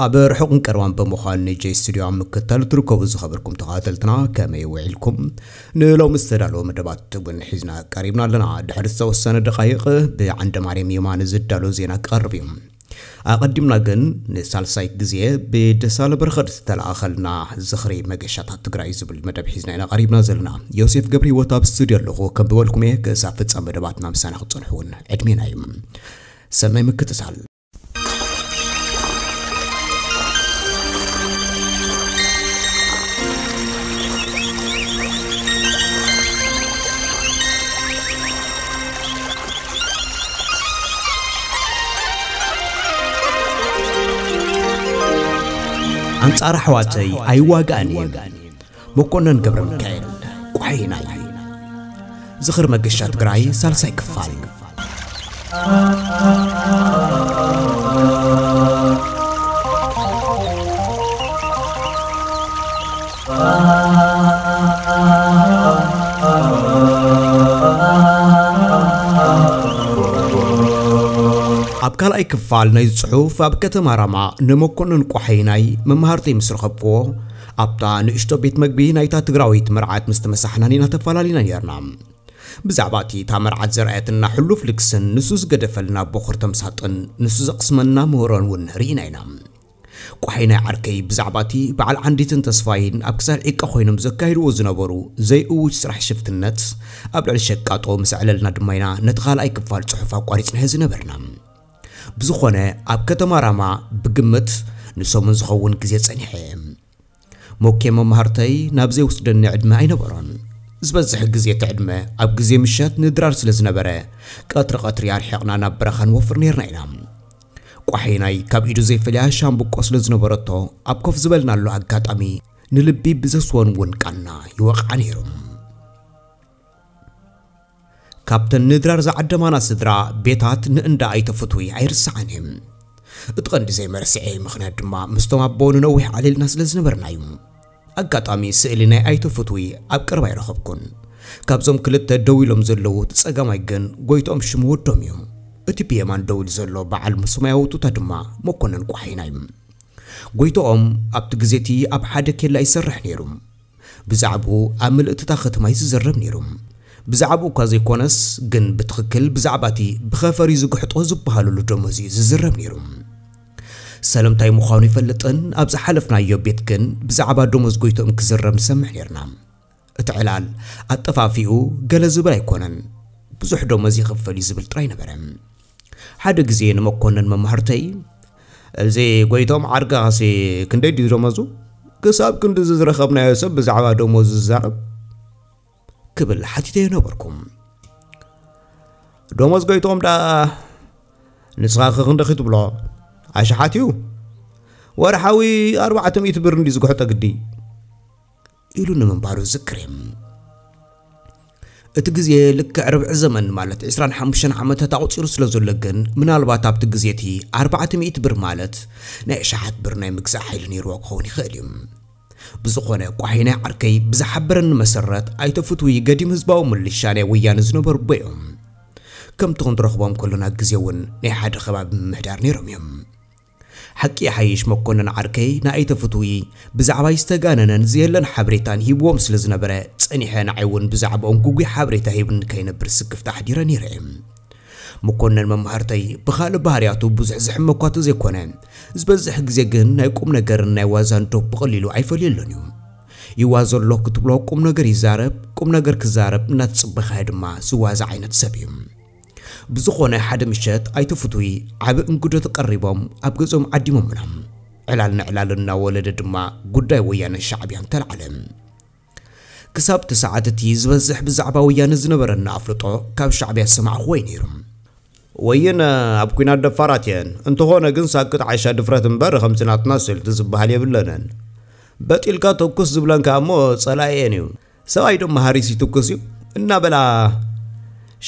ኣብ ርሑቕን ቀረባን ብምዃን ንጄ ስቱድዮ ኣብ ምክትታል ትርከቡ ዝኸበርኩም ተኸታተልትና ከመይ ውዒልኩም? ንሎሚ ዝተዳለወ መደባት እውን ሒዝና ቀሪብና ኣለና። ድሕሪ ዝተወሰነ ደቓይቕ ብዓንደ ማርያም የማነ ዝዳሎ ዜና ክቐርብ እዩ። ኣቐዲምና ግን ንሳልሳይ ግዜ ብደሳለ በረኸት ዝተለኣኸልና ዝኽሪ መገሻታት ትግራይ ዝብል መደብ ሒዝና ኢና ቀሪብና ዘለና። ዮሴፍ ገብረ ህይወት ኣብ ስቱድዮ ኣለኹ። ከም ዝበልኩም እየ ክሳብ ፍጻመ መደባትና ምሳና ክትጸንሑ እውን ዕድሜና እዩ። ሰናይ ምክትታል። ኣንጻር ኣሕዋተይ ኣይዋጋእን እየ። መኮነን ገብረ ሚካኤል ቋሒናይ። ዝኽሪ መገሻ ትግራይ ሳልሳይ ክፋል። ኣብ ካልኣይ ክፋል ናይ ጽሑፍ ኣብ ከተማ ራማ ንመኮነን ቋሒናይ መማህርተይ ምስ ረኸብክዎ ኣብታ ንእሽቶ ቤት መግቢ ናይታ ትግራዊት መርዓት ምስ ተመሳሕናን ኢና ተፈላለና ነርና። ብዛዕባ እቲ እታ መርዓት ዘርኣየትና ሕሉፍ ልግስን ንሱ ዝገደፈልና ቦኽር ተምሳጥን ንሱ ዘቕስመና ምህሮን እውን ርኢና ኢና። ቋሒናይ ዓርከይ ብዛዕባ እቲ በዓል ዓንዲትን ተስፋይን ኣብ ክሳድ ዒቃ ኮይኖም ዘካይድዎ ዝነበሩ ዘይእውጅ ስራሕ ሽፍትነት ኣብ ልዕሊ ሸቃጦ ምስ ኣዕለልና ድማ ኢና ነቲ ካልኣይ ክፋል ጽሑፍ ኣቋሪጽናዮ ዝነበርና። ብዝኾነ ኣብ ከተማ ራማ ብግምት ንሰሙን ዝኸውን ግዜ ጸኒሐ። ሞኬ መማህርተይ ናብ ዘይወስደኒ ዕድመ ኣይነበሮን። ዝበዝሕ ግዜ እቲ ዕድመ ኣብ ግዜ ምሸት ንድራር ስለ ዝነበረ ቀትሪ ቀትሪ ኣርሒቕና ናብ በረኻ ንወፍር ነርና ኢና። ቋሒናይ ካብ ኢዱ ዘይፈልያ ሻምብቆ ስለ ዝነበረቶ ኣብ ኮፍ ዝበልናሉ ኣጋጣሚ ንልቢ ብዘስወን እውን ቃና ይወቕዓ ነይሩ። ካብተን ንድራር ዝዓደማና ስድራ ቤታት ንእንዳ ኣይተ ፍትዊ ኣይርስዓን እየ። እቲ ቀንዲ ዘይመርሲዐ ምኽንያት ድማ ምስቶም ኣቦ ንነዊሕ ዓሊልና ስለ ዝነበርና እዩ። ኣጋጣሚ ስእሊ ናይ ኣይተ ፍትዊ ኣብ ቀረባ ኣይረኸብኩን። ካብዞም ክልተ ደው ኢሎም ዘለዉ እቲ ጸጋማይ ግን ጎይትኦም ሽሙ ወዶም እዩ። እቲ ብየማን ደው ኢሉ ዘሎ በዓል ሰማያዊ ቱታ ድማ መኮነን ቋሒና እዩ። ጎይትኦም ኣብቲ ግዜ እቲ ኣብ ሓደ ኬላ ይሰርሕ ነይሩ። ብዛዕባኡ ኣብ ምልእቲ እታ ከተማ እዩ ዝዝረብ ነይሩ። ብዛዕባኡ እኳ ዘይኮነስ ግን ብትኽክል ብዛዕባ እቲ ብኸፈር እዩ ዝግሕጦ ዝበሃለሉ ደሞዝ እዩ ዝዝረብ ነይሩ። ሰለምታይ ምዃኑ ይፈልጥን ኣብ ዝሓለፍናዮ ቤት ግን ብዛዕባ ደሞዝ ጎይትኦም ክዝረብ ንሰምዕ ነይርና። እቲ ዕላል ኣጠፋፊኡ ገለ ዝብል ኣይኮነን። ብዙሕ ደሞዝ ይኽፈል እዩ ዝብል ጥራይ ነበረ። ሓደ ግዜ ንመኮነን መማህርተይ፣ "እዚ ጎይቶም ዓርካኸሲ ክንደይ ድዩ ደሞዙ? ክሳብ ክንድዚ ዝረኸብናዮ ሰብ ብዛዕባ ደሞዙ ዝዛረብ?" ክብል ሓቲተዮ ነበርኩ። "ደሞዝ ጎይቶም ደኣ ንስኻ ከ ክንደኺ ትብሎ? ኣሽሓት እዩ። ወርሓዊ ኣርባዕተ ሚእቲ ብር እንዲ ዝግሕጦ ግዲ?" ኢሉ ንምንባሩ ዝክር እየ። እቲ ግዜ ልክዕ ርብዒ ዘመን ማለት ዕስራን ሓሙሽተን ዓመታት ኣቑጺሩ ስለ ዘሎ ግን ምናልባት ኣብቲ ግዜ እቲ ኣርባዕተ ሚእቲ ብር ማለት ናይ ኣሽሓት ብር ናይ ምግዛእ ሓይሊ ነይርዎ ክኸውን ይኽእል እዩ። ብዝኾነ ቋሒናይ ዓርከይ ብዝሓበረኒ መሰረት ኣይተ ፍትዊ ገዲም ህዝባዊ ምልሻ ናይ ወያነ ዝነበሩ ኣቦ እዮም። ከምቲ ክንረኽቦም ከሎና ግዜ እውን ናይ ሓደ ከባቢ ምምሕዳር ነይሮም እዮም። ሓቂ ይሓይሽ መኮነን ዓርከይ ንኣይተ ፍትዊ ብዛዕባይ ዝተጋነነን ዘየለን ሓበሬታን ሂብዎም ስለ ዝነበረ ጸኒሐ ንዓይ እውን ብዛዕባኦም ግጉይ ሓበሬታ ሂብኒ ከይነብር ስክፍታ ኣሕዲረ ነይረ እየ። መኮነን መማህርተይ ብኻልእ ባህርያቱ ብዙሕ ዝሕመ እኳ ተዘይኮነ ዝበዝሕ ግዜ ግን ናይ ቁም ነገርን ናይ ዋዛን ዶብ ብቐሊሉ ኣይፈልየሎን እዩ። ይዋዘ ኣሎ ክትብሎ ቁም ነገር ይዛረብ፣ ቁም ነገር ክዛረብ እናተጸበኻዮ ድማ ዝዋዛ ዓይነት ሰብ እዩ። ብዝኾነ ሓደ ምሸት ኣይተ ፍትዊ ዓቢ እንግዶ ተቐሪቦም ኣብ ገዝኦም ዓዲሞምና። ዕላል ንዕላል እናወለደ ድማ ጉዳይ ወያነ ሻዕብያን ተላዕለ። ክሳብ እቲ ሰዓት እቲ ዝበዝሕ ብዛዕባ ወያነ ዝነበረና ኣፍልጦ ካብ ሻዕብያ ዝሰማዕኽዎ እዩ ነይሩ። ወይን ኣብ ኲናት ደፋራት እየን፣ እንተኾነ ግን ሳክት ዓሻ ድፍረት እምበር ከምዚ ናትና ስልቲ ዝበሃል የብለንን። በጥ ኢልካ ተኩስ ዝብለን ከኣ እሞ ጸላኢኤን እዩ። ሰብኣይ ዶ መሃሪስ ይትኩስ እዩ እናበላ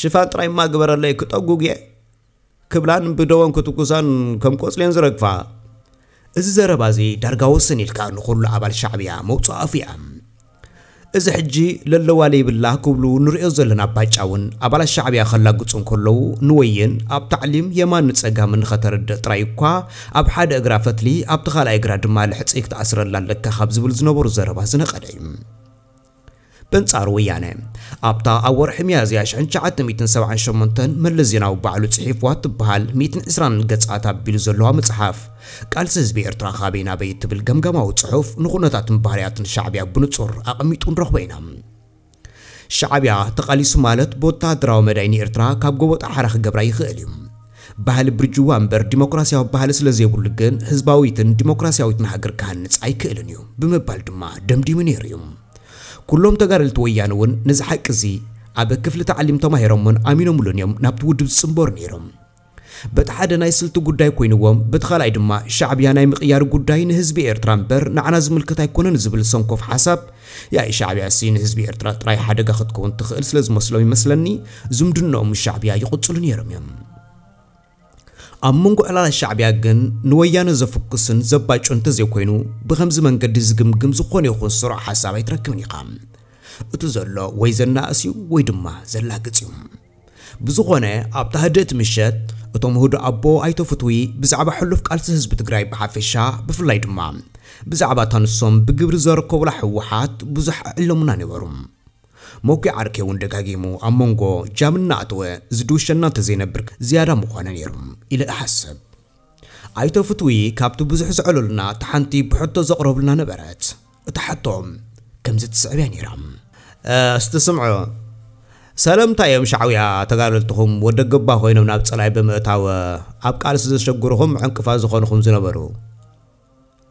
ሽፋን ጥራይ እማ ግበረለይ ክጠጉግ እየ ክብላን ብደወን ክትኩሳን ከም ቆጽሌን ዝረግፋ። እዚ ዘረባ እዚ ዳርጋ ወሰን ኢልካ ንኹሉ ኣባል ሻዕብያ መውጽኦ ኣፉ እያ። እዚ ሕጂ ለለዋ ለይብላ ክብሉ ንሪኦ ዘለና ባጫ እውን ኣባላት ሻዕብያ ከላግጹ እንከለዉ ንወይን ኣብ ታዕሊም የማን ንጸጋም ንኸተረድእ ጥራይ እኳ ኣብ ሓደ እግራ ፈትሊ ኣብቲ ካልኣይ እግራ ድማ ልሕጺ ክትኣስረላ ኣለካ ካብ ዝብል ዝነበሩ ዘረባ ዝነቐለ እዩ። በንጻሩ ወያነ ኣብታ ኣብ ወርሒ ሚያዝያ ሽሕን ትሽዓተ ሚእትን ሰብዓን ሸሞንተን መለስ ዜናዊ ባዕሉ ጽሒፍዋ እትበሃል ሚእትን ዕስራን ገጻት ኣቢሉ ዘለዋ መጽሓፍ ቃልሲ ህዝቢ ኤርትራ ካበይ ናበይ እትብል ገምጋማዊ ጽሑፍ ንኹነታትን ባህርያትን ሻዕብያ ብንጹር ኣቐሚጡ ንረኽቦ ኢና። ሻዕብያ ተቓሊሱ ማለት ብወተሃደራዊ መዳይ ንኤርትራ ካብ ጎቦ ጣሓራ ክገብራ ይኽእል እዩ። ባህሊ ብርጅዋ እምበር ዲሞክራሲያዊ ባህሊ ስለ ዘይብሉ ግን ህዝባዊትን ዲሞክራሲያዊትን ሃገር ክሃንጽ ኣይክእልን እዩ ብምባል ድማ ደምዲሙ ነይሩ እዩ። ኩሎም ተጋደልቲ ወያነ እውን ነዚ ሓቂ እዚ ኣብ ክፍሊ ታዕሊም ተማሂሮምን ኣሚኖምሉን እዮም ናብቲ ውድብ ዝጽንበሩ ነይሮም። በቲ ሓደ ናይ ስልቲ ጉዳይ ኮይንዎም፣ በቲ ካልኣይ ድማ ሻዕብያ ናይ ምቕያር ጉዳይ ንህዝቢ ኤርትራ እምበር ንዓና ዝምልከት ኣይኮነን ዝብል ሰንኮፍ ሓሳብ፣ ያኢ ሻዕብያ ሲ ንህዝቢ ኤርትራ ጥራይ ሓደጋ ክትከውን ትኽእል ስለ ዝመስሎም ይመስለኒ፣ ዝምድንኦም ምስ ሻዕብያ ይቕጽሉ ነይሮም እዮም። ኣብ መንጎ ዕላላት ሻዕብያ ግን ንወያነ ዘፍኩስን ዘባጩ እንተዘይኮይኑ፣ ብኸምዚ መንገዲ ዝግምግም ዝኾነ ይኹን ስሩዕ ሓሳብ ኣይትረክብን ኢኻ። እቲ ዘሎ ወይ ዘናእስ እዩ ወይ ድማ ዘላግጽ እዩ። ብዝኾነ ኣብታ ህድእቲ ምሸት እቶም ህዱእ ኣቦ ኣይተ ፍትዊ ብዛዕባ ሕሉፍ ቃልሲ ህዝቢ ትግራይ ብሓፈሻ ብፍላይ ድማ ብዛዕባ እታ ንሶም ብግብሪ ዘረከቡላ ህወሓት ብዙሕ ኣዕለሙና ነበሩ። መኩ ዓርከይ እውን ደጋጊሙ ኣብ መንጎ ጃም እናኣተወ ዝድውሸና እንተዘይነብር ዝያዳ ምኾነ ነይሩ ኢለ እሓስብ። ኣይተ ፍትዊ ካብቲ ብዙሕ ዘዕለሉና እታ ሓንቲ ብሕቶ ዘቕረብልና ነበረት። እታ ሕቶ ከምዚ ትስዕብ እያ ነይራ። እስቲ ስምዑ፣ ሰለምታ እዮም ሻዕውያ ተጋደልትኹም ወደ ገባ ኮይኖም ናብ ጸላይ ብምእታው ኣብ ቃልሲ ዘሸግርኹም ዕንቅፋት ዝኾንኹም ዝነበሩ?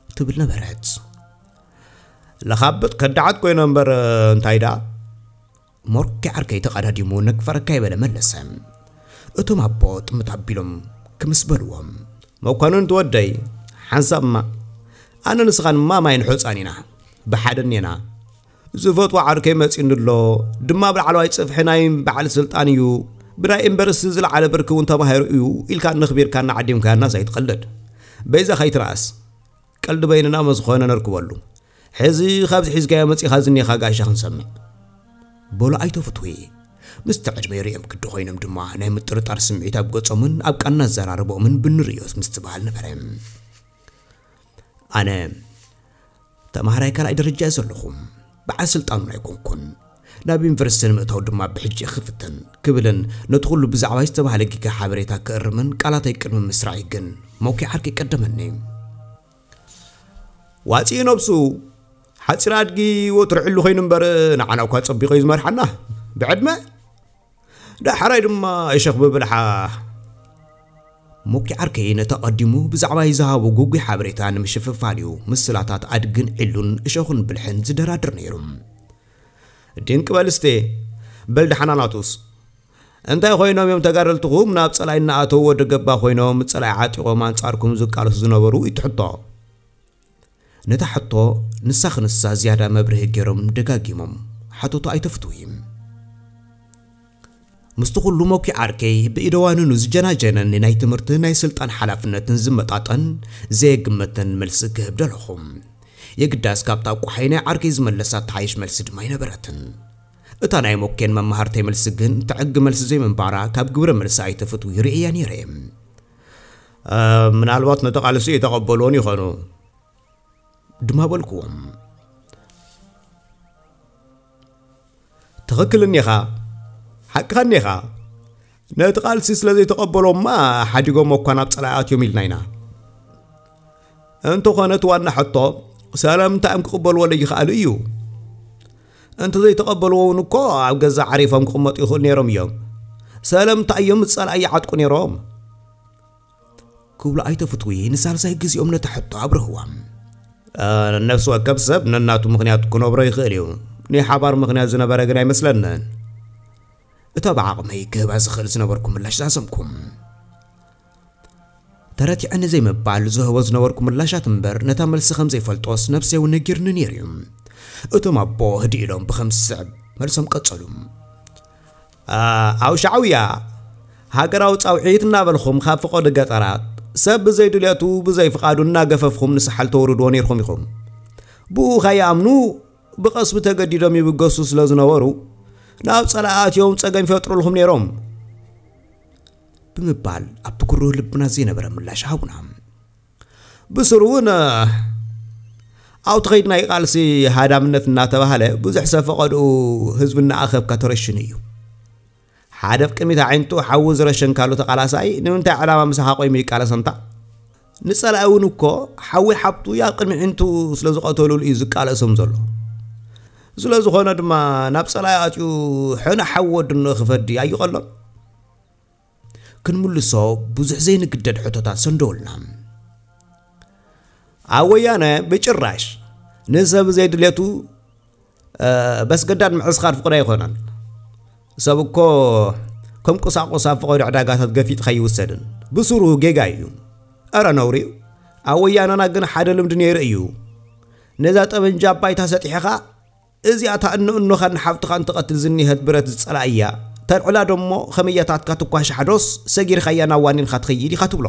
ትብል ነበረት። ለኻብጥ ከዳዓት ኮይኖም እምበር እንታይ ደኣ? ሞርኪ ዓርከይ ተቐዳዲሙ ነግፈረካ ይበለ መለሰ። እቶም ኣቦ ጥምት ኣቢሎም ክምስ በልዎም። መኳንንት ወደይ፣ ሓንሳብ እማ ኣነ ንስኻን እማ ማይን ሑፃን ኢና። ብሓደ እኔና። ዝፈትዋ ዓርከይ መፂኡኒ ኣሎ። ድማ ኣብ ላዕለዋይ ፅፍሒ ናይ በዓል ስልጣን እዩ። ብናይ ዩኒቨርሲቲ ዝለዓለ ብርኪ እውን ተማሂሩ እዩ ኢልካ ነኽቢርካና ዓዲምካናስ ኣይትቐልድ። በይዛ ከይትነኣስ። ቀልዲ በይንና መዝኾነ ነርክበሉ። ሕዚ ካብዚ ሒዝካዮ መጺኻ ዝኔኻ ጋሻ ክንሰምዕ። በሉ ኣይተ ፍትዊ። ምስቲ ዕድመ ይርእዮም ግዲ ኮይኖም ድማ ናይ ምጥርጣር ስምዒት ኣብ ገጾምን ኣብ ቃና ኣዘራርቦኦምን ብንርእዮስ ምስትብሃል ነበረ። ኣነ ተማሃራይ ካልኣይ ደረጃ እየ ዘለኹ። በዓል ስልጣን እውን ኣይኮንኩን። ናብ ዩኒቨርሲቲ ንምእታው ድማ ብሕጂ እየ ክፍትን ክብልን ነቲ ኩሉ ብዛዕባይ ዝተባህለ ጌጋ ሓበሬታ ክእርምን ቃላተይ ቅድሚ ምስራዐይ ግን መኩ ዓርከይ ቀደመኒ። ዋጺኡ ነብሱ ሓጺር ኣድጊ ወትሩ ዕሉ ኮይኑ እምበር ንዓና እኳ ጸቢቑ እዩ ዝመርሓና ብዕድመ። ዳሕራይ ድማ እሸኽ ብብልሓ። ሞኪ ዓርከይ ነቲ ኣቐዲሙ ብዛዕባይ ዝሃቦ ግጉይ ሓበሬታ ንምሽፍፋን እዩ ምስላታት ኣድግን ዕሉን እሸኹን ብልሕን ዝደራድር ነይሩ። ድንቂ በል እስቴ፣ በል ደሓና ናቱስ። እንታይ ኮይኖም እዮም ተጋደልትኹም ናብ ጸላኢ እናኣተዉ ወደ ገባ ኮይኖም ጸላኢ ዓጢቖም ኣንጻርኩም ዝቃለሱ ዝነበሩ? እዩ እቲ ሕቶ። ነታ ሕቶ ንሳ ክንሳ ዝያዳ መብርሂ ገይሮም ደጋጊሞም ሓተቱ ኣይተ ፍትዊ። ምስቲ ኩሉ መኩ ዓርከይ ብኢደዋንኑ ዝጀናጀነኒ ናይ ትምህርትን ናይ ስልጣን ሓላፍነትን ዝመጣጠን ዘየግመተን መልሲ ክህብ ደለኹ። የግዳስ ካብታ ቋሓይ ናይ ዓርከይ ዝመለሳ ትሓይሽ መልሲ ድማ ኣይነበረትን። እታ ናይ ሞኬን መማህርተይ መልሲ ግን ትዕጊ መልሲ ዘይምንባራ ካብ ግብረ መልሲ ኣይተ ፍትዊ ርእየያ ነይረ። እ፣ ምናልባት ነቲ ቃልሲ ኣይተቐበልዎን ይኾኑ። ድማ በልክዎም። ትኽክል እኒኻ፣ ሓቅኻ እኒኻ። ነቲ ቃልሲ ስለ ዘይተቐበሎማ ሓዲጎም እኳ ናብ ጸላኢ ኣትዮም ኢልና ኢና። እንተኾነ እቲ ዋና ሕቶ፣ ሰለምንታይ እዮም ክቕበልዎ ለይኽኣሉ እዩ። እንተ ዘይተቐበልዎ እውን እኮ ኣብ ገዛ ዓሪፎም ክቕመጡ ይኽእሉ ነይሮም እዮም። ሰለምንታይ እዮም ጸላኢ ይዓጥቁ ነይሮም? ክብሉ ኣይተ ፍትዊ ንሳልሳይ ግዜኦም ነታ ሕቶ ኣብርህዋ። እ፣ ነፍሲ ወከፍ ሰብ ነናቱ ምኽንያት ክነብሮ ይኽእል እዩ። ናይ ሓባር ምኽንያት ዝነበረ ግን ኣይመስለንን። እታ ብዓቕመይ ክህባ ዝኽእል ዝነበርኩ ምላሽ ዛዘምኩ። ተረቲዐኒ ዘይምባል ዝህቦ ዝነበርኩ ምላሻት እምበር ነታ መልሲ ከም ዘይፈልጦስ ነብሰይ እውን ነጊርኒ ነይሩ እዩ። እቶም ኣቦ ህድእ ኢሎም ብኸም ዝስዕብ መልሶም ቀጸሉ። እ፣ ኣብ ሻዕውያ ሃገራዊ ጻውዒት እናበልኹም ካብ ፈቐዶ ገጠራት ሰብ ብዘይ ድልየቱ ብዘይ ፍቓዱ እናገፈፍኹም ንሳሕል ተውርድዎ ነይርኩም ኢኹም። ብኡ ከይኣምኑ ብቐስቢ ተገዲዶም ይብገሱ ስለ ዝነበሩ ናብ ጸላኢ ኣትዮም ጸገም ይፈጥሩልኹም ነይሮም ብምባል ኣብቲ ኩርህ ልብና ዘይነበረ ምላሽ ሃቡና። ብስሩ እውን ኣብቲ ኸይዲ ናይ ቃልሲ ሃዳምነት እናተባህለ ብዙሕ ሰብ ፈቐድኡ ህዝቢ እናኣኸብካ ተረሽኑ እዩ። ሓደ ኣብ ቅድሚት ኣዒንቱ ሓዊ ዝረሸንካሉ ተቓላሳይ ንምንታይ ዕላማ ምሳኻ ቆይሙ ይቃለስ ኣንታ? ንጸላኢ እውን እኮ ሓዊ ሓብቱ ኣብ ቅድሚ ኣዒንቱ ስለ ዝቐተሉሉ እዩ ዝቃለሶም ዘሎ። ስለ ዝኾነ ድማ ናብ ጸላኢ ኣትዩ ሕነ ሓዊ ወድኖ ክፈዲ ኣይቐሎን። ክንምልሶ ብዙሕ ዘይንግደድ ሕቶታት ሰንደውልና። ኣብ ወያነ ብጭራሽ ንሰብ ዘይድሌቱ በስገዳድ ምዕስኻር ፍቕዶ ኣይኮነን። ሰብ እኮ ከም ቁሳቁስ ኣብ ፈቐዶ ዕዳጋታት ገፊጥካ ይውሰድን ብስሩ ጌጋ እዩ። እረ ነውሪ እዩ። ኣብ ወያነና ግን ሓደ ልምዲ ነይሩ እዩ። ነዛ ጠበንጃ ባይታ ሰጢሕኻ እዚኣ ታእኖ እኖኻን ሓብትኻን ትቐትል ዝኒሀት ብረት ዝጸላእያ ተልዕላ ደሞ ከመያታትካ ትኳሻሕ ዶስ ሰጊርካያ ናብ ዋኒንካ ትኸይድ ኢኻ ትብሎ።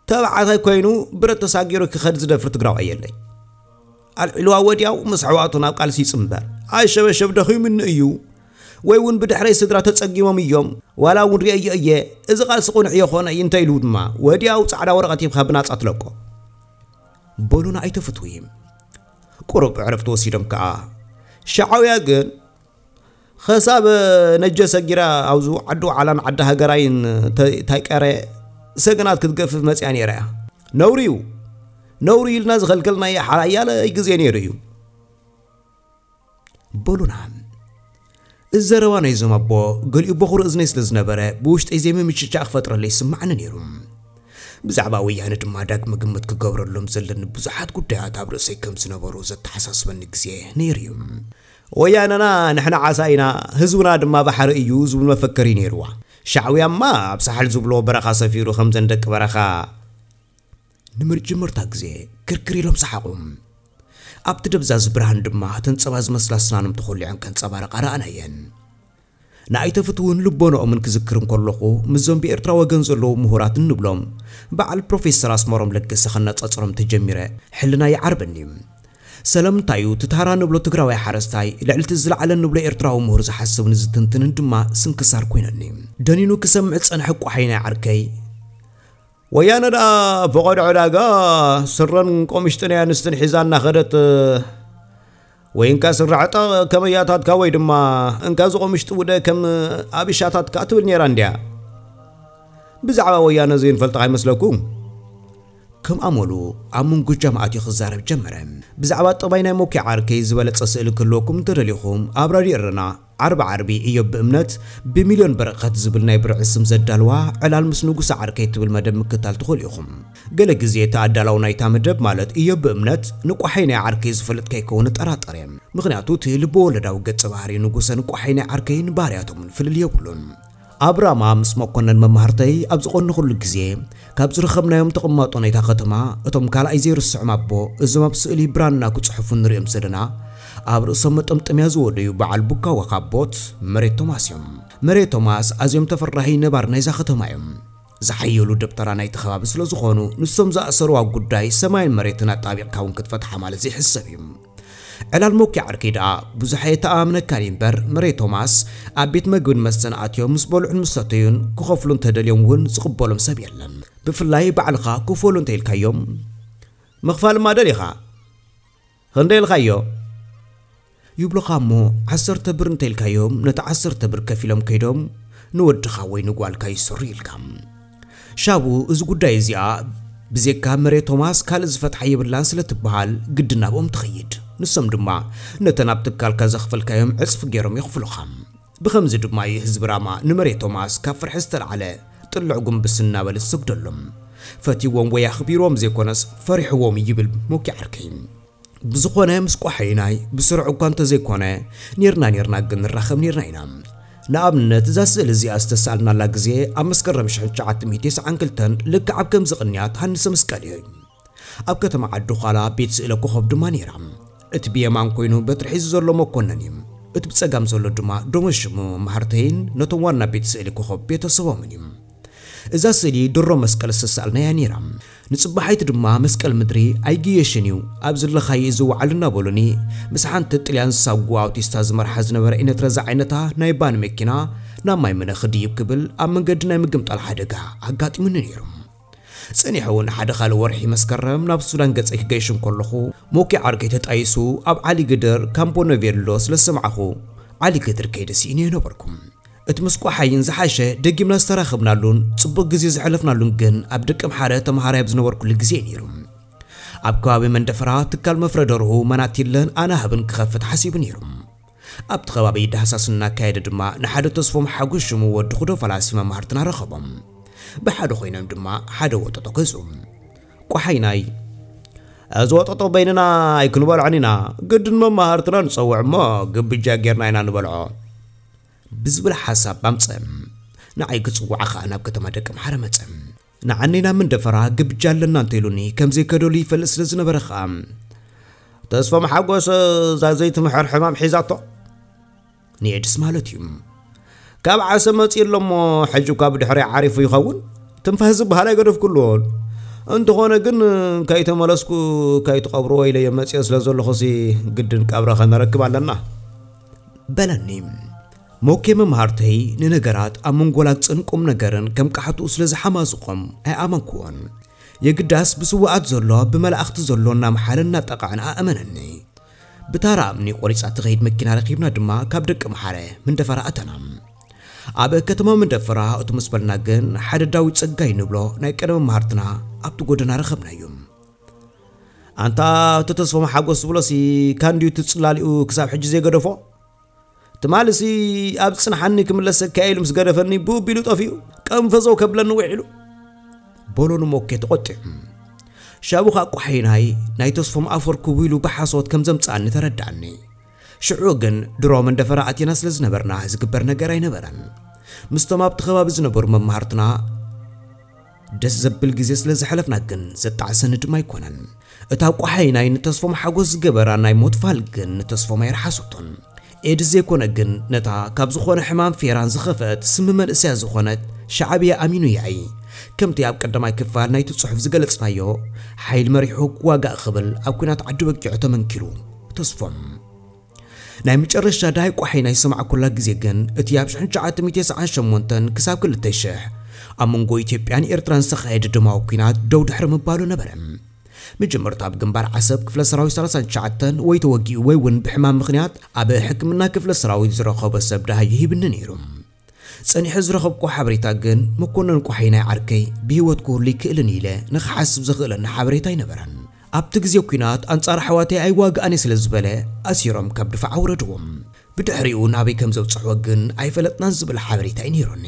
ተባዕታይ ኮይኑ ብረት ተሳጊሩ ክኸድ ዝደፍር ትግራዋይ የለይ። ኣልዒልዋ ወዲያው ምስ ኣሕዋቱ ናብ ቃልሲ ይጽንበር። ኣሸበሸብ ደኺሙኒ እዩ ወይ እውን ብድሕረይ ስድራ ተጸጊሞም እዮም ዋላ እውን ርእየዮ እየ፣ እዚ ቃልሲ ቁኑዕ የኾነ እዩ እንተኢሉ ድማ ወዲያው ጻዕዳ ወረቐት ሂብካ ብናጻ ትለቆ። በሉና ኣይተፍትዊ። ቁሩብ ዕረፍቲ ወሲዶም ከኣ ሻዕውያ ግን ኸሳብ ነጀ ሰጊራ ኣብዚ ዓዲ ዓላን ዓዲ ሃገራይን ተ- ታይቀረ ሰገናት ክትገፍፍ መጽያ ነይራ እያ። ነውሪ እዩ። ነውሪ ኢልና ዝኸልከልናዮ ሓያለ ግዜ ነይሩ እዩ። በሉና። እዚ ዘረባ ናይዞም ኣቦ ገሊኡ በኹሪ እዝነይ ስለ ዝነበረ ብውሽጠይ ዘይምምችቻእ ክፈጥረለይ ይስማዓኒ ነይሩ። ብዛዕባ ወያነ ድማ ዳግመ ግምት ክገብረሎም ዘለኒ ብዙሓት ጉዳያት ኣብ ርእሰይ ከም ዝነበሩ ዘተሓሳስበኒ ግዜ ነይሩ እዩ። ወያነና ንሕና ዓሳ ኢና፣ ህዝብና ድማ ባሕሪ እዩ ዝብል መፈክር እዩ ነይርዋ። ሻዕውያማ ኣብ ሳሕል ዝብሎ በረኻ ሰፊሩ ከምዘን ደቂ በረኻ ንምርጅምርታ ግዜ ክርክር ኢሎም ሰሓቑ። ኣብቲ ደብዛዝ ብርሃን ድማ ተንጸባ ዝመስላ ስናኖም ተኾሊዐን ከንጸባረቓ ረኣናየን። ንኣይተፍትውን ልቦንኦምን ክዝክር እንከለኹ ምስዞም ብኤርትራ ወገን ዘለዉ ምሁራት እንብሎም በዓል ፕሮፌሰር ኣስመሮም ለገሰ ከነጻጽሮም ተጀሚረ ሕልና ይዓርበኒ። ሰለምንታዩ ትታራ ንብሎ ትግራዋይ ሓረስታይ ልዕልቲ ዝለዓለ ንብሎ ኤርትራዊ ምሁር ዝሓስብን ዝትንትንን ድማ ስንክሳር ኮይነኒ። ደኒኑ ክሰምዕ ዝጸንሐ ቋሓይናይ ዓርከይ ወያነ ደኣ ፈቐዶ ዕዳጋ ስረን ቆምሽጥን ኣንስትን ሒዛ እናኸደት ወይ እንካ ስረ ዕጠቕ ከመያታትካ ወይ ድማ እንካ ዝቆምሽጢ ውደ ከም ኣብሻታትካ ትብል ነይራ እንድያ። ብዛዕባ ወያነ ዘይንፈልጥ ኣይመስለኩም? ከም ኣመሉ ኣብ ምንጉጃም ኣትዩ ክዛረብ ጀመረ። ብዛዕባ ጠባይ ናይ ሞኪ ዓርከይ ዝበለጸ ስእሊ ክህልወኩም እንተደሊኹም ኣብ ራድዮ ኤረና ዓርቢ ዓርቢ እዮብ ብእምነት ብሚልዮን በረኸት ዝብል ናይ ብርዒ ስም ዘዳልዋ ዕላል ምስ ንጉሰ ዓርከይ ትብል መደብ ምክታል ትኽእሉ ኢኹም። ገለ ግዜ እቲ ኣዳላዊ ናይታ መደብ ማለት እዮብ ብእምነት ንቋሓይ ናይ ዓርከይ ዝፈልጥ ከይከውን እጠራጠር እየ። ምኽንያቱ እቲ ልበወለዳዊ ገጸ ባህሪ ንጉሰን ቋሓይ ናይ ዓርከይን ባህርያቶምን ፍልል የብሉን። ኣብ ራማ ምስ መኮነን መማህርተይ ኣብ ዝቐነኹሉ ግዜ ካብ ዝረኸብናዮም ተቐማጦ ናይታ ከተማ እቶም ካልኣይ ዘይርስዖም ኣቦ እዞም ኣብ ስእሊ ብራና ክጽሕፉ ንሪኦም ዘለና ኣብ ርእሶም መጠምጠምያ ዝወደዩ በዓል ቡካወ ካቦት መሬት ቶማስ እዮም። መሬት ቶማስ ኣዝዮም ተፈራሂ ነባር ናይዛ ከተማ እዮም። ዝሓየሉ ደብተራ ናይቲ ከባቢ ስለ ዝኾኑ ንሶም ዝኣሰርዋ ጉዳይ ሰማይን መሬትን ኣጣቢቕካ እውን ክትፈትሓ ማለት ዘይሕሰብ እዩ። ዕላል ሞኪ ዓርከይ ደኣ ብዙሕ ኣየተኣማምነካን እዩ እምበር መሬት ቶማስ ኣብ ቤት መግብን መስተን ኣትዮም ምስ በልዑን ምስ ሰተዩን ክኸፍሉ እንተደልዮም እውን ዝቕበሎም ሰብ የለን። ብፍላይ ባዕልኻ ክፈሉ እንተኢልካዮም ምኽፋል እማ ደሊኻ ክንደይ ኢልካዮ ይብሉኻ እሞ ዓሰርተ ብር እንተኢልካዮም ነቲ ዓሰርተ ብር ከፊሎም ከይዶም ንወድኻ ወይ ንጓልካ ይስሩ ኢልካ። ሻቡ እዚ ጉዳይ እዚኣ ብዜካ መሬት ቶማስ ካልእ ዝፈትሓ የብላን ስለ ትበሃል ግዲ ናብኦም ትኸይድ። ንሶም ድማ ነተን ኣብ ትካልካ ዘኽፈልካዮም ዕጽፊ ገይሮም የኽፍሉኻ። ብኸምዚ ድማ እዩ ህዝቢ ራማ ንመሬት ቶማስ ካብ ፍርሒ ዝተላዕለ ጥልዕ ጉንብስ እናበለ ዝሰግደሎም። ፈትይዎም ወይ ኣኽቢርዎም ዘይኮነስ ፈሪሕዎም ይብል ሞኪ ዓርከይ። ብዝኾነ ምስ ቋሓይናይ ብስሩዕ እኳ እንተዘይኮነ ኔርና ኔርና ግን ንራኸብ ኔርና ኢና። ንኣብነት እዛ ስእሊ እዚኣ ዝተሳእልናላ ግዜ ኣብ መስከረም ሽሕን ትሽዓተ ሚእቲ ተስዓን ክልተን ልክዕ ኣብ ከምዚ ቅንያት ሃንሰ መስቀል እዩ። ኣብ ከተማ ዓዲ ዃላ ቤት ስእለ ኮኸብ ድማ ነይራ። እቲ ብየማን ኮይኑ በትሪ ሒዙ ዘሎ መኮነን እዩ። እቲ ብጸጋም ዘሎ ድማ ዶመ ሽሙ መማህርተይን ነቶም ዋና ቤት ስእሊ ኮኸብ ቤተሰቦምን እዩ። እዛ ስእሊ ድሮ መስቀል ዝተሳእልናያ ነይራ። ንጽባሓይቲ ድማ መስቀል ምድሪ ኣይግየሽን እዩ፣ ኣብ ዘለኻዮ እዩ ዝወዓል እናበሉኒ፣ ምስ ሓንቲ ጥልያን ሳጓ ኣውቲስታ ዝመርሓ ዝነበረ ኢነትረዛ ዓይነታ ናይ ባን መኪና ናብ ማይ ምነ ክድይብ ክብል ኣብ መንገዲ ናይ ምግምጣል ሓደጋ ኣጋጢሙኒ ነይሩ። ጸኒሑ እውን ሓደ ካልእ ወርሒ መስከረም ናብ ሱዳን ገጸይ ክገይሽ እንከለኹ፣ ሞኪ ዓርከይ ተጣይሱ ኣብ ዓሊ ግድር ካምፖ ነቬሎ ስለ ዝሰማዕኹ፣ ዓሊ ግድር ከይደ ስኢነ ነበርኩ። እቲ ምስ ቋሓይን ዝሓሸ ደጊምና ዝተራኸብናሉን ጽቡቕ ግዜ ዘሕለፍናሉን ግን ኣብ ደቀምሓረ ተመሃራይ ኣብ ዝነበርኩሉ ግዜ እዩ ነይሩ። ኣብ ከባቢ መንደፈራ ትካል መፍረ ደርሁ መናቲለን ኣናህብን ክኸፍት ሓሲቡ ነይሩ። ኣብቲ ከባቢ ዳህሳስ እናካየደ ድማ ንሓደ ተስፎም ሓጎስ ሽሙ ወዲ ኩዶ ፈላሲ መማህርትና ረኸቦም። ብሓደ ኮይኖም ድማ ሓደ ወጠጦ ገዝኡ። ቋሓይናይ፣ "እዚ ወጠጦ በይንና ኣይክንበልዖን ኢና፣ ግድን መማህርትና ንጸውዕ እሞ ግብጃ ጌርና ኢና ንበልዖ" ብዝብል ሓሳብ ኣምጸ። ንዓይ ክጽውዓ ኸኣ ናብ ከተማ ደቀምሓረ መጸ። ንዓነይ ናብ መንደፈራ ግብጃ ኣለና እንተ ኢሉኒ ከም ዘይከደሉ ይፈልጥ ስለ ዝነበረ ኸኣ፣ "ተስፎም ሓጎስ እዛ ዘይትምሕር ሕማም ሒዛቶ?" ንኤድስ ማለት እዩ። "ካብ ዓሰብ መጺኡ ኣሎ እሞ ሕጂ እኳ ብድሕሪ ዓሪፉ ይኸውን። ትንፋስ ዝበሃል ኣይገደፍኩሉን። እንተኾነ ግን ከይተመለስኩ ከይትቐብርዎ ኢለዮ መጺኦ ስለ ዘለኹሲ ግድን ቀብረ ከነረክብ ኣለና" በለኒ። ሞኬ መምሃርተይ ንነገራት ኣብ መንጎ ላግጽን ቁም ነገርን ከም ቃሕትኡ ስለ ዝሓማዝቖም ኣይኣመንክዎን። የግዳስ ብስውኣት ዘሎ ብመላእኽቲ ዘሎ እናመሓለ እናጠቕዐን ኣእመነኒ። ብታራ እምኒ ቆሪጻ ትኸይድ መኪና ረኺብና ድማ ካብ ደቂ መሓረ መንደፈራ ኣተና። ኣብ ከተማ መንደፈራ እቱ ምስ በልና ግን ሓደ ዳዊት ጸጋይ ንብሎ ናይ ቀደም መሃርትና ኣብቲ ጎደና ረኸብናዮ። "ኣንታ እቲ ተስፎም ሓጎስ ዝብሎሲ ካንድዩ እቲ ጽላሊኡ ክሳብ ሕጂ ዘይገደፎ? ትማልሲ ኣብ ጽንሓኒ ክምለሰካ ኢሉ ምስ ገደፈኒ ብኡ ቢሉ ጠፊኡ ቀንፈዘው ከብለኒ ውዒሉ" በሎ ንሞኬ ተቖጢዑ። ሻቡ ኸኣ ቋሒናይ ናይ ተስፎም ኣፈር ክቡ ኢሉ ብሓሶት ከም ዘምጽኣኒ ተረድኣኒ። ሽዑ ግን ድሮ መንደፈራ ኣቲና ስለ ዝነበርና ዝግበር ነገር ኣይነበረን። ምስቶም ኣብቲ ከባቢ ዝነበሩ መማህርትና ደስ ዘብል ግዜ ስለ ዘሕለፍና ግን ዘጣዕሰኒ ድማ ኣይኮነን። እታ ቋሓይናይ ንተስፎም ሓጎስ ዝገበራ ናይ ሞት ፋል ግን ንተስፎም ኣይረሓሰቶን። ኤድስ ዘይኮነ ግን ነታ ካብ ዝኾነ ሕማም ፌራን ዝኸፍአት ስሚ መንእሰያ ዝኾነት ሻዕብያ ኣሚኑ ያኢ፣ ከምቲ ኣብ ቀዳማይ ክፋል ናይቲ ጽሑፍ ዝገለጽናዮ፣ ሓይል መሪሑ ክዋጋእ ክብል ኣብ ኲናት ዓዲ በጊዖ ተመንኪሩ ተስፎም። ናይ መጨረሻ ዳይ ቋሒናይ ዝሰማዕኩላ ግዜ ግን እቲ ኣብ ሽሕን ትሽዓተ ሚእትን ተስዓን ሸሞንተን ክሳብ ክልተ ሽሕ ኣብ መንጎ ኢትዮጵያን ኤርትራን ዝተኻየደ ደማዊ ኲናት ደው ድሕሪ ምባሉ ነበረ። መጀመርታ ኣብ ግንባር ዓሰብ ክፍለ ሰራዊት ሰላሳን ትሽዓተን ወይ ተወጊኡ ወይ እውን ብሕማም ምኽንያት ኣብ ሕክምና ክፍለ ሰራዊት ዝረኸቦ ሰብ ደሃዩ ሂብኒ ነይሩ። ጸኒሐ ዝረኸብኩ ሓበሬታ ግን መኮነን ቋሒናይ ዓርከይ ብህይወት ክህሉ ይክእልን ኢለ ንኽሓስብ ዘኽእለኒ ሓበሬታ ኣይነበረን። ኣብቲ ግዜ ኲናት ኣንጻር ኣሕዋተይ ኣይዋግኣን እየ ስለ ዝበለ ኣሲሮም ካብ ድፋዕ ኣውረድዎም። ብድሕሪኡ ናበይ ከም ዘብጽሕዎ ግን ኣይፈለጥናን ዝብል ሓበሬታ እዩ ነይሩኒ።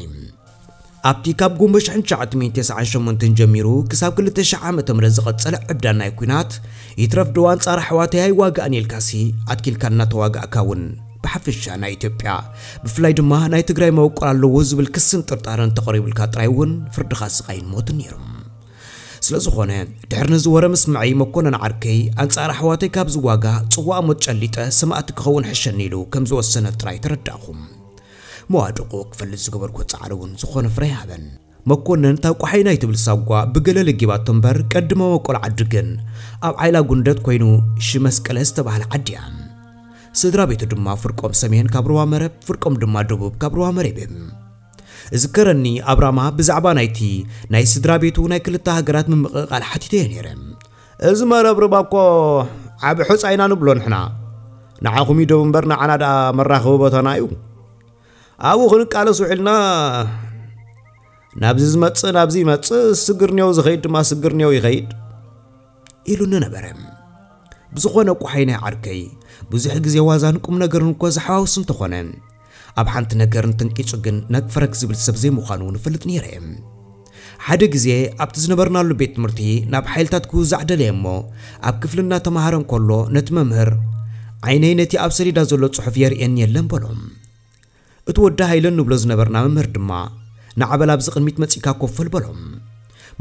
ኣብቲ ካብ ጉንበት ሽሕን ትሽዓተ ሚእትን ተስዓን ሸሞንተን ጀሚሩ ክሳብ ክልተ ሽሕ ዓመተ ምህረት ዝቐጸለ ዕብዳን ናይ ኲናት፣ ይትረፍ ዶ ኣንጻር ኣሕዋተይ ኣይዋጋእን ኢልካሲ ኣትኪልካ እናተዋጋእካ እውን ብሓፈሻ ናይ ኢትዮጵያ ብፍላይ ድማ ናይ ትግራይ መበቆል ኣለዎ ዝብል ክስን ጥርጣረን ተቐሪቡልካ ጥራይ እውን ፍርድኻ ስቓይን ሞትን ነይሩ። ስለ ዝኾነ ድሕሪ ነዚ ወረ ምስምዐይ መኮነን ዓርከይ ኣንጻር ኣሕዋተይ ካብ ዝዋጋ ጽዋእ ሞት ጨሊጠ ሰማእቲ ክኸውን ሕሸኒ ኢሉ ከም ዝወሰነ ጥራይ ተረዳእኹ። መዋድቑ ክፈልጥ ዝገበርኩ ጻዕሪ እውን ዝኾነ ፍረ ይሃበን። መኮነን እታ ቋሓይናይ ትብል ሳጓ ብገለ ለጊባቶ እምበር ቀድመ መበቆል ዓዲ ግን ኣብ ዓይላ ጉንደት ኮይኑ ሽመስቀለ ዝተባህለ ዓዲ እያ። ስድራ ቤቱ ድማ ፍርቆም ሰሜን ካብ ሩባ መረብ ፍርቆም ድማ ደቡብ ካብ ሩባ መረብ እዮም። እዝከረኒ ኣብራማ ብዛዕባ ናይቲ ናይ ስድራ ቤቱ ናይ ክልተ ሃገራት ምምቕቓል ሓቲተዮ ነይረ። "እዚ መረብ ርባ እኮ ዓቢ ሑጻ ኢና ንብሎ ንሕና። ንዓኹም እዩ ደቡብ እምበር ንዓና ደኣ መራኸቢ ቦታና እዩ። ኣብኡ ክንቃለስ ውዒልና ናብዚ ዝመጽእ ናብዚ ይመጽእ፣ ስግርኔው ዝኸይድ ድማ ስግርኔው ይኸይድ" ኢሉኒ ነበረ። ብዝኾነ ቋሓይናይ ዓርከይ ብዙሕ ግዜ ዋዛን ቁም ነገርን እኮ ዝሓዋውስ እንተኾነ ኣብ ሓንቲ ነገር እንተንቂጹ ግን ነግ ፈረግ ዝብል ሰብ ዘይምዃኑ ንፈልጥ ነይረ እየ። ሓደ ግዜ ኣብቲ ዝነበርናሉ ቤት ትምህርቲ ናብ ሓይልታት ክውዛዕ ደለየ እሞ ኣብ ክፍሊ እናተምሃረ እንከሎ ነቲ መምህር ዓይነይ ነቲ ኣብ ሰሌዳ ዘሎ ጽሑፍ የርእየኒ የለን በሎ። እቲ ወዲ ሃይለ ንብሎ ዝነበርና መምህር ድማ ንዓበል ኣብዚ ቅድሚት መጺእካ ኮፍ በል በሎ።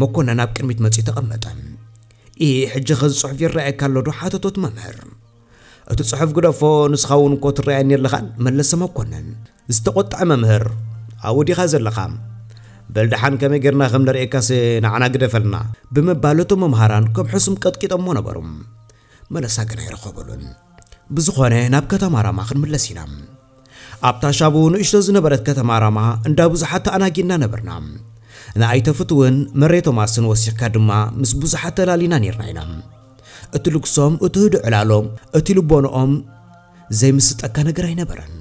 መኮነን ኣብ ቅድሚት መጺኡ ተቐመጠ። "ኢ ሕጂ ኸዚ ጽሑፍ ይረኣየካ ኣሎ ዶ?" ሓተቶ እቲ መምህር። "እቲ ጽሑፍ ግደፎ፣ ንስኻ እውን እኮ ትረኣየኒ ኣለኻን?" መለሰ መኮነን። ዝተቖጥዐ መምህር፣ "ኣብኡ ዲኻ ዘለኻ? በል ደሓን ከመይ ጌርና ከም ንርእየካስ ንዓና ግደፈልና ብምባል እቶም መምሃራን ከም ሕሱም ቀጥቂጦሞ ነበሩ። መለሳ ግን ኣይረኸበሉን። ብዝኾነ ናብ ከተማ ራማ ክንምለስ ኢና። ኣብታ ሻቡ ንእሽቶ ዝነበረት ከተማ ራማ እንዳ ብዙሓት ተኣናጊድና ነበርና። ንኣይተፍትውን መሬ ቶማስን ወሲኽካ ድማ ምስ ብዙሓት ተላሊና ኔርና ኢና። እቲ ልግሶም፣ እቲ ህዱእ ዕላሎም፣ እቲ ልቦንኦም ዘይምስጠካ ነገር ኣይነበረን።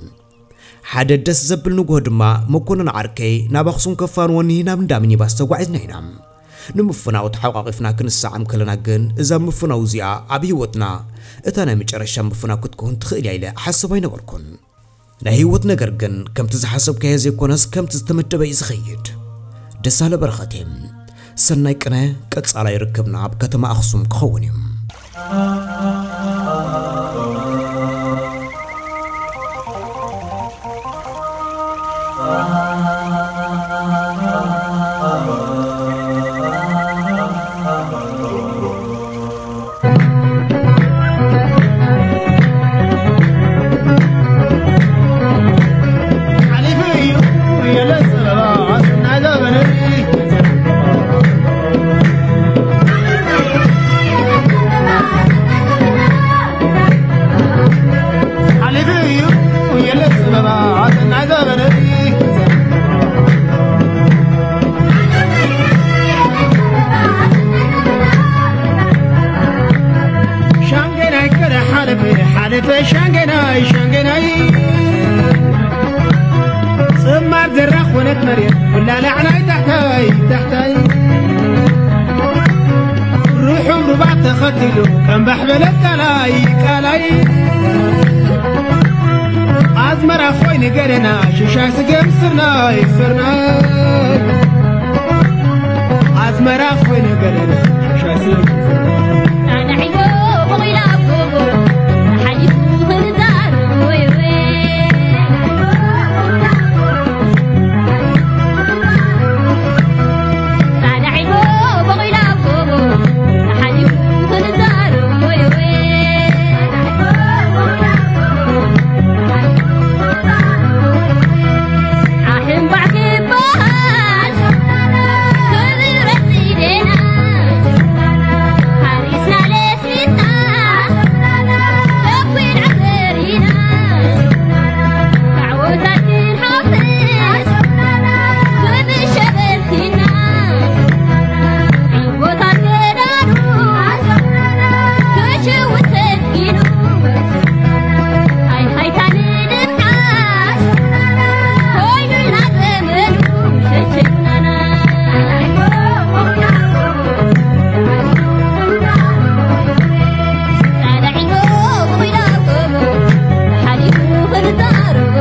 ሓደ ደስ ዘብል ንግሆ ድማ መኮነን ዓርከይ ናብ ኣኽሱም ከፋንወኒ ናብ እንዳ ሚኒባስ ተጓዒዝና ኢና። ንምፍናው ተሓቋቒፍና ክንሰዓም ከለና ግን እዛ ምፍናው እዚኣ ኣብ ህይወትና እታ ናይ መጨረሻ ምፍናው ክትከውን ትኽእል እያ ኢለ እሓስብ ኣይነበርኩን። ናይ ህይወት ነገር ግን ከምቲ ዝሓሰብካዮ ዘይኮነስ ከምቲ ዝተመደበ እዩ ዝኸይድ። ደሳለ በረኸቴ፣ ሰናይ ቅነ፣ ቀጻላይ ርክብና ኣብ ከተማ ኣኽሱም ክኸውን እዩ። ሻንገናይ ከደ ሓለፈ ሓለፈ ሻንገናይ ሻንገናይ ጽማር ዘራ ኮነት መሬት ኩላ ላዕላይ ታሕታይ ታሕታይ ርሑም ሩባ ተኸቲሉ ከም ባሕበለ ቃላይ ቃላይ ኣዝመራ ኮይኑ ገደና ሽሻይ ስገም ስርናይ ስርናይ ኣዝመራ ኮይኑ ገደና ሽሻይ ስገም ስርናይ ጻዕዳ ዒሎ በቒላ ኣብ ጎቦ ሓሊፉ ክንዛር ወይ ወይ ጻዕዳ ዒሎ በቒላ ኣብ ጎቦ ሓሊፉ ክንዛር ወይ ወይ ኣሕምባዕ ክበሃል ክብረት ኢደና ሓሪስና ለስሊስና ተኲን ዓተሪና ዓወታት ክንሓፍስ ብብሸበልኪና ዓወታት ገዳኑ ክሽውሰን ኢሉ ሃይ ሃይታ ንድምዓት ኮይኑልና ዘመኑ ሸሸናና ጸላዒኖ ኮይና ሓሊፉ ክንዛረብ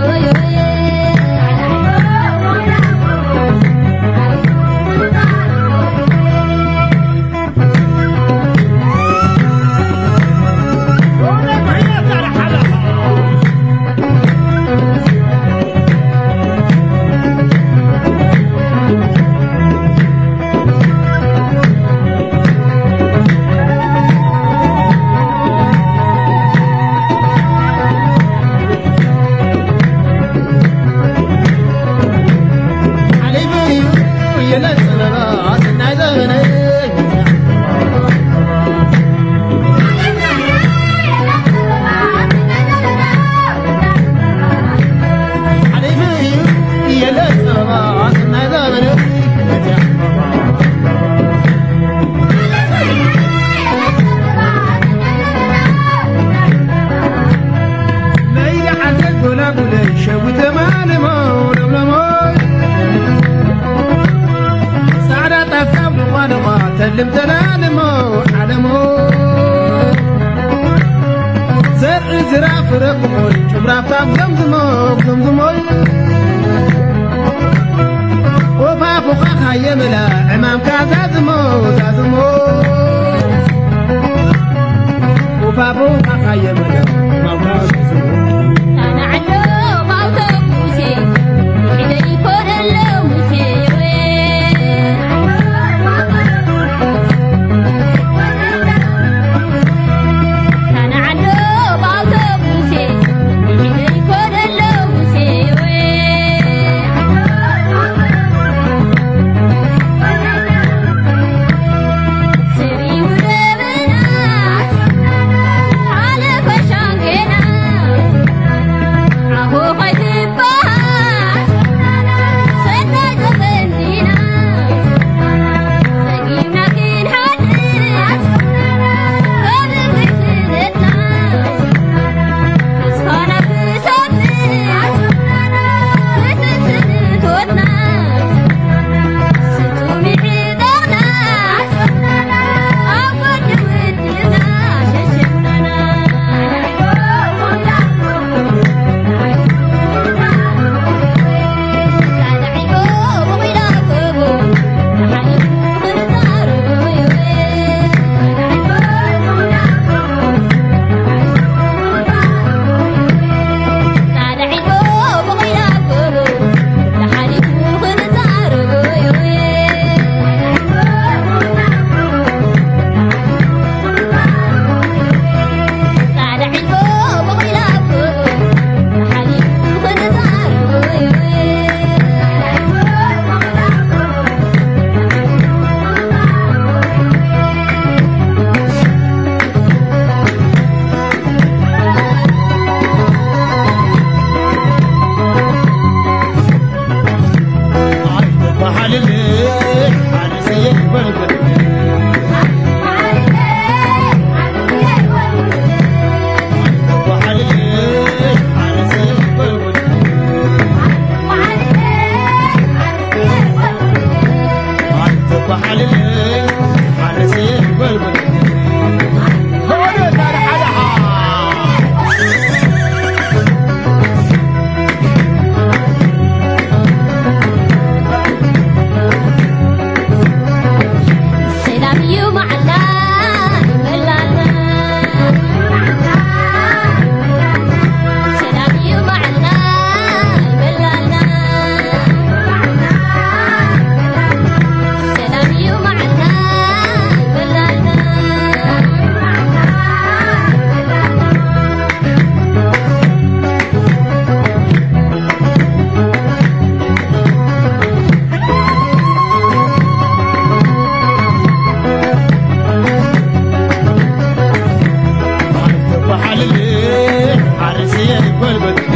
በልበልኒ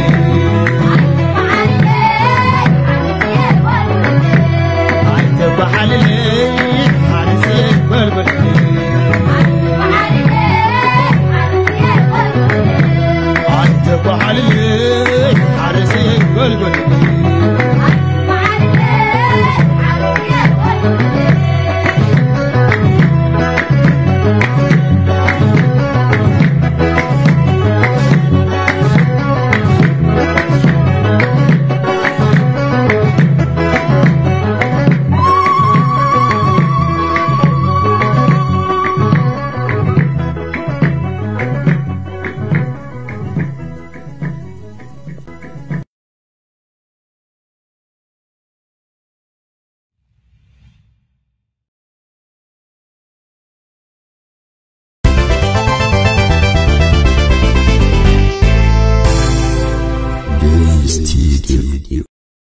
ኣይተበሓልለይ ሓሪሰይ በልበልኒ ኣይተበሓልለይ